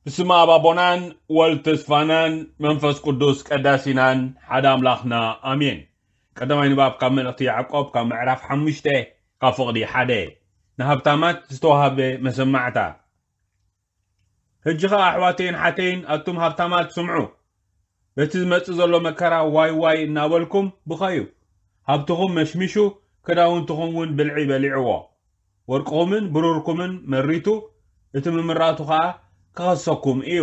ብስመ ኣብ ኣቦናን ወልድ ተስፋናን መንፈስ ቅዱስ ቀዳሲናን ሓደ ኣምላኽና ኣሜን። ቀዳማይ ንባብ ካብ መልእኽቲ ያዕቆብ ካብ ምዕራፍ ሓሙሽተ ካብ ፍቕዲ ሓደ። ንሃብታማት ዝተዋህበ መሰማዕታ። ሕጂ ኸኣ ኣሕዋተይን ሓተይን ኣቱም ሃብታማት ስምዑ። በቲ ዝመጽእ ዘሎ መከራ ዋይ ዋይ እናበልኩም ብኸዩ። ሃብትኹም መሽሚሹ፣ ክዳውንትኹም እውን ብልዒ በሊዕዎ። ወርቅኹምን ብሩርኩምን መሪቱ፣ እቲ ምምራቱ ኸኣ ክኸሰኩም እዩ።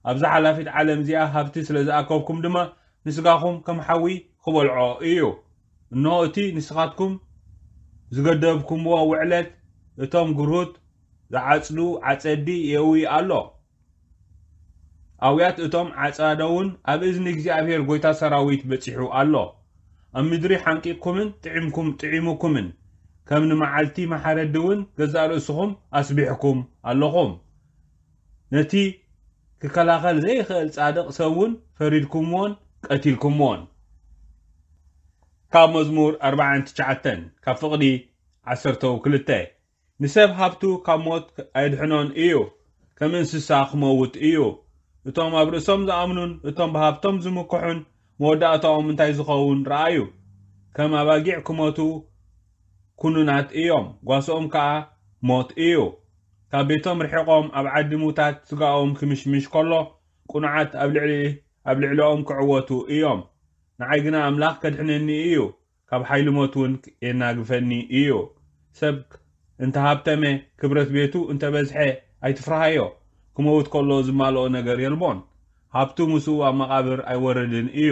ኣብዛ ሓላፊት ዓለም እዚኣ ሃብቲ ስለ ዝኣከብኩም ድማ ንስጋኹም ከም ሓዊ ክበልዖ እዩ። እንሆ እቲ ንስኻትኩም ዝገደብኩምዎ ውዕለት እቶም ግርሁት ዝዓጽዱ ዓጸዲ የእዊ ኣሎ። ኣውያት እቶም ዓጻደውን ኣብ እዝኒ እግዚኣብሔር ጐይታ ሰራዊት በጺሑ ኣሎ። ኣብ ምድሪ ሓንቂቕኩምን ጥዒምኩም ጥዒሙኩምን፣ ከም ንመዓልቲ መሓረዲ እውን ገዛእ ርእስኹም ኣስቢሕኩም ኣለኹም። ነቲ ክከላኸል ዘይኽእል ጻድቕ ሰብ እውን ፈሪድኩምዎን ቀቲልኩምዎን። ካብ መዝሙር ኣርባዓን ትሽዓተን ካብ ፍቕዲ ዓሰርተው ክልተ። ንሰብ ሃብቱ ካብ ሞት ኣየድሕኖን እዩ፣ ከም እንስሳ ክመውት እዩ። እቶም ኣብ ርእሶም ዝኣምኑን እቶም ብሃብቶም ዝምክሑን መወዳእታኦም እንታይ ዝኸውን ረኣዩ። ከም ኣባጊዕ ክሞቱ ኩኑናት እዮም፣ ጓስኦም ከኣ ሞት እዩ። ካብ ቤቶም ርሒቖም ኣብ ዓዲ ምውታት ስጋኦም ክምሽምሽ ከሎ፣ ቅኑዓት ኣብ ልዕሊ ኣብ ልዕሊኦም ክዕወቱ እዮም። ንዓይ ግና ኣምላኽ ከድሕነኒ እዩ፣ ካብ ሓይሊ ሞት እውን የናግፈኒ እዩ። ሰብ እንተሃብተመ፣ ክብረት ቤቱ እንተበዝሐ ኣይትፍርሃዮ። ክመውት ከሎ ዝማልኦ ነገር የልቦን። ሃብቱ ምስኡ ኣብ መቓብር ኣይወርድን እዩ።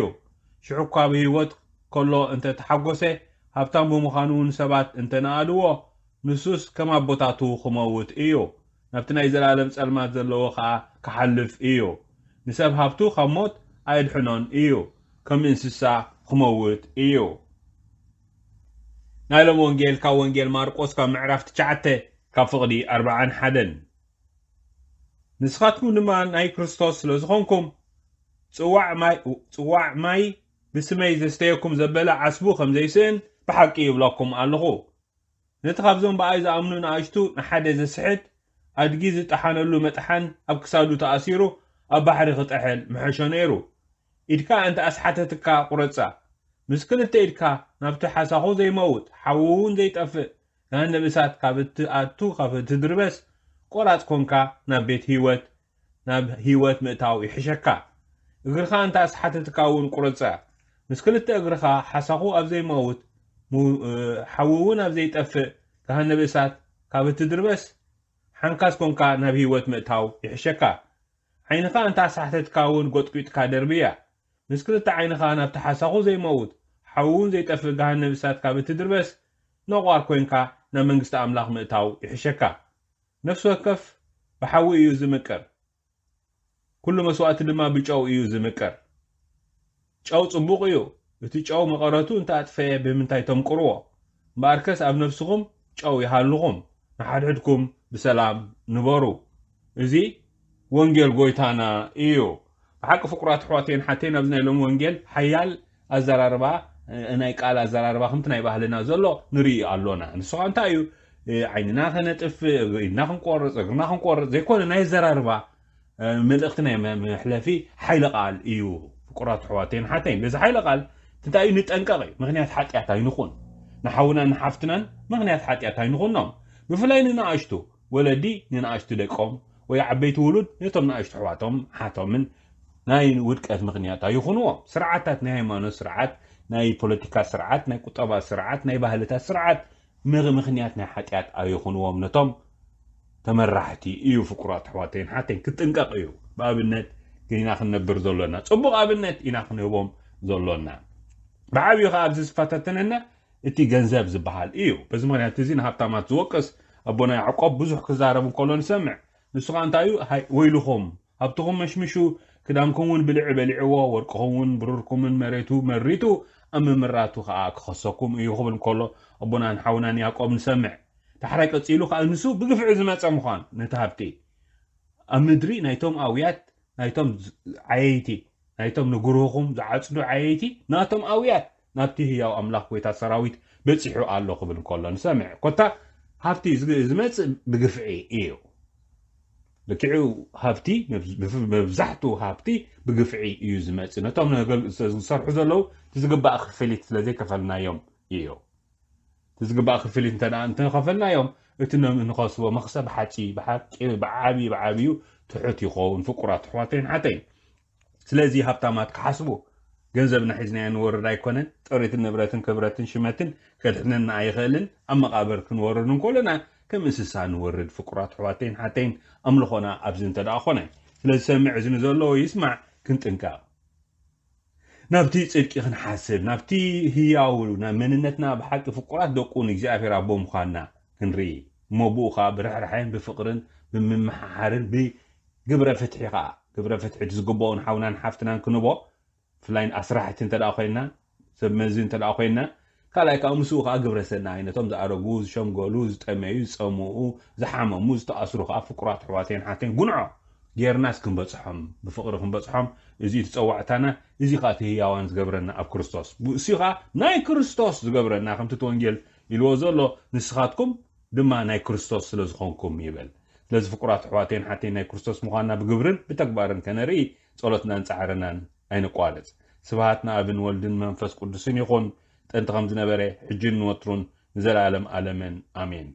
ሽዑ እኳ ብህይወት ከሎ እንተ ተሓጎሰ፣ ሃብታም ብምዃኑ ንሰባት እንተ ነኣድዎ፣ ንሱስ ከም ኣቦታቱ ክመውት እዩ። ናብቲ ናይ ዘላለም ጸልማት ዘለዎ ኸኣ ክሓልፍ እዩ። ንሰብ ሃብቱ ካብ ሞት ኣየድሕኖን እዩ፣ ከም እንስሳ ክመውት እዩ። ናይ ሎም ወንጌል ካብ ወንጌል ማርቆስ ካብ ምዕራፍ ትሽዓተ ካብ ፍቕዲ ኣርባዓን ሓደን። ንስኻትኩም ድማ ናይ ክርስቶስ ስለ ዝኾንኩም፣ ጽዋዕ ማይ፣ ጽዋዕ ማይ ብስመይ ዘስተየኩም ዘበለ ዓስቡ ከም ዘይስእን ብሓቂ ይብለኩም ኣለኹ። ነቲ ካብዞም ብኣይ ዝኣምኑ ንኣሽቱ ንሓደ ዘስሕት፣ ኣድጊ ዝጠሓነሉ መጥሓን ኣብ ክሳዱ ተኣሲሩ ኣብ ባሕሪ ክጥሕል ምሐሾ ነይሩ። ኢድካ እንተ ኣስሓተትካ ቁረጻ። ምስ ክልተ ኢድካ ናብቲ ሓሳኹ ዘይመውት፣ ሓዊ እውን ዘይጠፍእ፣ ገሃነብ እሳት ካብ እትኣቱ ካብ እትድርበስ፣ ቆራጽ ኮንካ ናብ ቤት ህይወት፣ ናብ ህይወት ምእታው ይሕሸካ። እግርኻ እንተ ኣስሓተትካ እውን ቁረጻ። ምስ ክልተ እግርኻ ሓሳኹ ኣብ ዘይመውት፣ ሙ-፣ እ፣ ሓዊ እውን ኣብ ዘይጠፍእ፣ ገሃነብ እሳት ካብ እትድርበስ፣ ሓንካስ ኮንካ ናብ ህይወት ምእታው ይሕሸካ። ዓይንኻ እንተ ኣሳሕተትካ እውን ጎጥጒጥካ ደርብያ። ምስ ክልተ ዓይንኻ ናብቲ ሓሳኹ ዘይመውት፣ ሓዊ እውን ዘይጠፍእ ገሃነብ እሳት ካብ እትድርበስ፣ ነቋር ኮይንካ ናብ መንግስቲ ኣምላኽ ምእታው ይሕሸካ። ነፍሲ ወከፍ ብሓዊ እዩ ዝምቅር፣ ኩሉ መስዋእቲ ድማ ብጨው እዩ ዝምቅር። ጨው ጽቡቕ እዩ። እቲ ጨው መቐረቱ እንተ ኣጥፈየ ብምንታይ ተምቅርዎ? እምበኣርከስ ኣብ ነፍስኹም ጨው ይሃልኹም፣ ንሓድሕድኩም ብሰላም ንበሩ። እዚ ወንጌል ጎይታና እዩ። ብሓቂ ፍቁራት ኣሕዋተይን ሓተይን ኣብዚ ናይ ሎሚ ወንጌል ሓያል ኣዘራርባ፣ እ፣ ናይ ቃል ኣዘራርባ ከምቲ ናይ ባህልና ዘሎ ንርኢ ኣሎና። ንሱ ኸኣ እንታይ እዩ? እ፣ ዓይንና ከነጥፍእ፣ ኢድና ክንቆርጽ፣ እግርና ክንቆርጽ ዘይኮነ ናይ ኣዘራርባ፣ እ፣ መልእኽቲ ናይ መ-፣ መሕለፊ ሓይለ ቃል እዩ። ፍቁራት ኣሕዋተይን ሓተይን በዚ ሓይለ ቃል እንታይ እዩ? ንጠንቀቕ እዩ። ምኽንያት ሓጢኣት ኣይንኹን። ንሓውናን ንሓፍትናን ምኽንያት ሓጢኣት ኣይንኹኖም። ብፍላይ ንንኣሽቱ ወለዲ ንንኣሽቱ ደቆም ወይ ዓበይቲ ውሉድ ነቶም ንኣሽቱ ኣሕዋቶም ሓቶምን ናይ ውድቀት ምኽንያት ኣይኹንዎም። ስርዓታት፣ ናይ ሃይማኖት ስርዓት፣ ናይ ፖለቲካ ስርዓት፣ ናይ ቁጠባ ስርዓት፣ ናይ ባህልታት ስርዓት ምኽ-፣ ምኽንያት ናይ ሓጢኣት ኣይኹንዎም። ነቶም ተመራሕቲ እዩ። ፍቁራት ኣሕዋተይን ሓተይን ክትጥንቀቕ እዩ። ብኣብነት ኢና ክንነብር ዘሎና፣ ጽቡቕ ኣብነት ኢና ክንህቦም ዘሎና። ብዓብዩ ኸኣ ኣብዚ ዝፈታተነና እቲ ገንዘብ ዝበሃል እዩ። በዚ ምኽንያት እዚ ንሃብታማት ዝወቅስ ኣቦና ያዕቆብ ብዙሕ ክዛረብ እንከሎ ንሰምዕ። ንሱ ኸኣ እንታይ እዩ? ሃይ ወይልኹም፣ ሃብትኹም መሽሚሹ፣ ክዳንኩም እውን ብልዒ በሊዕዎ፣ ወርቅኹም እውን ብሩርኩምን መሬቱ መሪቱ፣ ኣብ ምምራቱ ኸኣ ክኸሰኩም እዩ ክብል እንከሎ ኣቦናን ሓውናን ያዕቆብ ንሰምዕ። ዳሕራይ ቀጺሉ ኸኣ ንሱ ብግፍዒ ዝመጸ ምዃን ነቲ ሃብቲ ኣብ ምድሪ ናይቶም ኣውያት፣ ናይቶም ዝ-፣ ዓየይቲ፣ ናይቶም ንግርሁኹም ዝዓጽዱ ዓየይቲ፣ ናቶም ኣውያት ናብቲ ህያው ኣምላኽ ጐይታ ሰራዊት በጺሑ ኣሎ ክብል እንከሎ ንሰምዕ። ኮታ ሃብቲ ዝግ-፣ ዝመጽእ ብግፍዒ እዩ። ልክዑ ሃብቲ መብዛሕትኡ ሃብቲ ብግፍዒ እዩ ዝመፅእ። ነቶም ዝሰርሑ ዘለዉ እቲ ዝግባእ ክፍሊት ስለዘይከፈልናዮም እዩ። እቲ ዝግባእ ክፍሊት እንተ እንተኸፈልናዮም እቲ ንኸስቦ መኽሰብ ሓፂ ብሓቂ ብዓብዩ ብዓብዩ ትሑት ይኸውን። ፍቁራት ኣሕዋተይን ሓተይን፣ ስለዚ ሃብታማት ክሓስቡ፣ ገንዘብና ሒዝናዮ ንወርድ ኣይኮነን። ጥሪትን ንብረትን ክብረትን ሽመትን ከድሕነና ኣይኽእልን። ኣብ መቓብር ክንወርድ እንከሎና ከም እንስሳ ንወርድ። ፍቁራት ኣሕዋተይን ሓተይን፣ ኣምልኾና ኣብዚ እንተ ደኣ ኾነ። ስለ ዝሰምዕ እዚ ንዘለዎ ይስማዕ፣ ክንጥንቀቕ። ናብቲ ጽድቂ ክንሓስብ፣ ናብቲ ህያው፣ ናብ መንነትና ብሓቂ ፍቁራት ደቁ ንእግዚኣብሔር ኣቦ ምዃንና ክንርኢ፣ እሞ ብኡ ኸኣ ብርሕራሐን ብፍቕርን ብምምሓሓርን ብግብረ ፍትሒ ኸኣ፣ ግብረ ፍትሒ ዝግብኦን ሓውናን ሓፍትናን ክንቦ፣ ብፍላይ ኣስራሕቲ እንተ ደኣ ኮይንና፣ ሰብ መዚ እንተ ደኣ ኮይንና፣ ካልኣይ ከዓ ምስኡ ከዓ ግብረ ሰናይ ነቶም ዝኣረጉ፣ ዝሸምገሉ፣ ዝጠመዩ፣ ዝጸምኡ፣ ዝሓመሙ፣ ዝተኣስሩ ከዓ ፍቁራት ኣሕዋተይን ሓተይን ጉንዖ ጌርናስ ክንበጽሖም፣ ብፍቕሪ ክንበጽሖም፣ እዚ እቲ ጸዋዕታና፣ እዚ ከዓ እቲ ህያዋን ዝገብረና ኣብ ክርስቶስ። ብእሲ ከዓ ናይ ክርስቶስ ዝገብረና፣ ከምቲ እቲ ወንጌል ኢልዎ ዘሎ፣ ንስኻትኩም ድማ ናይ ክርስቶስ ስለ ዝኾንኩም ይብል። ስለዚ ፍቁራት ኣሕዋተይን ሓተይን ናይ ክርስቶስ ምዃንና ብግብርን ብተግባርን ከነርኢ ጸሎትናን ጻዕርናን ኣይንቋረጽ። ስብሃት ንኣብን ወልድን መንፈስ ቅዱስን ይኹን፣ ጥንቲ ከም ዝነበረ፣ ሕጅን ንወትሩን ንዘለኣለም ኣለምን ኣሜን።